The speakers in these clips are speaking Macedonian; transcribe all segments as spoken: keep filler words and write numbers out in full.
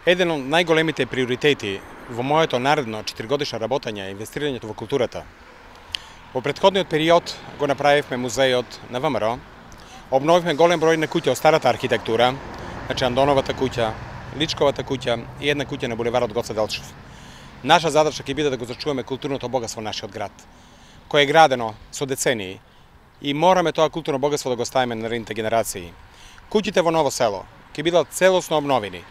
Еден од најголемите приоритети во моето наредно четиригодишно работење е инвестирањето во културата. Во претходниот период го направивме музејот на ВМРО, обновивме голем број на куќи од старата архитектура, значи Андоновата куќа, Личковата куќа и една куќа на булеварот Гоце Делчев. Наша задача ќе биде да го зачуваме културното богатство во нашиот град, кое е градено со децении и мораме тоа културно богатство да го ставиме на наредните генерации. Куќите во Ново село ќе бидат целосно обновени.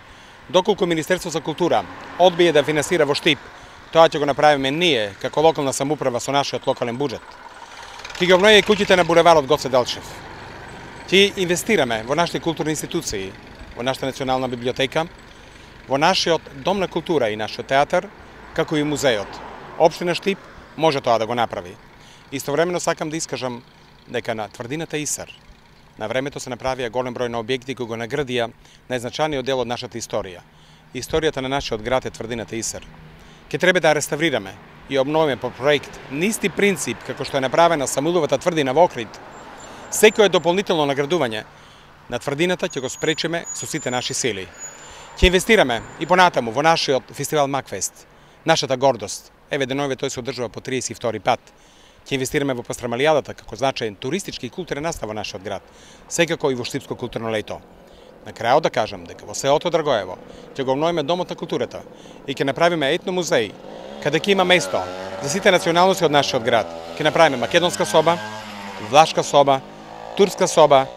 Доколку Министерство за култура одбие да финансира во Штип, тоа ќе го направиме ние, како локална самоуправа со нашиот локален буџет. Ќе ги обновиме куќите на булеварот Гоце Делчев. Ќе инвестираме во нашите културни институции, во нашата национална библиотека, во нашиот дом на култура и нашиот театар, како и музејот. Општина Штип може тоа да го направи. Истовремено сакам да искажам дека на тврдината Исар на времето се направија голем број на објекти кои го наградија најзначајниот дел од нашата историја. Историјата на нашиот град е тврдината Исар. Ке треба да ја реставрираме и обновиме по проект на исти принцип како што е направена Самуиловата тврдина во Охрид. Секој дополнително наградување на тврдината ќе го спречиме со сите наши сили. Ќе инвестираме и понатаму во нашиот фестивал Макфест, нашата гордост. Еве деновиве тој се одржува по триесет и втори пат. Ќе инвестираме во Пастрамалијадата како значаен туристички и културен настав во нашиот град, секако и во Штипско културно лето. На крајот да кажам дека во селото Драгоево ќе го обновиме домот на културата и ќе направиме етно музеј, каде ќе има место за сите националности од нашиот град. Ќе направиме македонска соба, влашка соба, турска соба,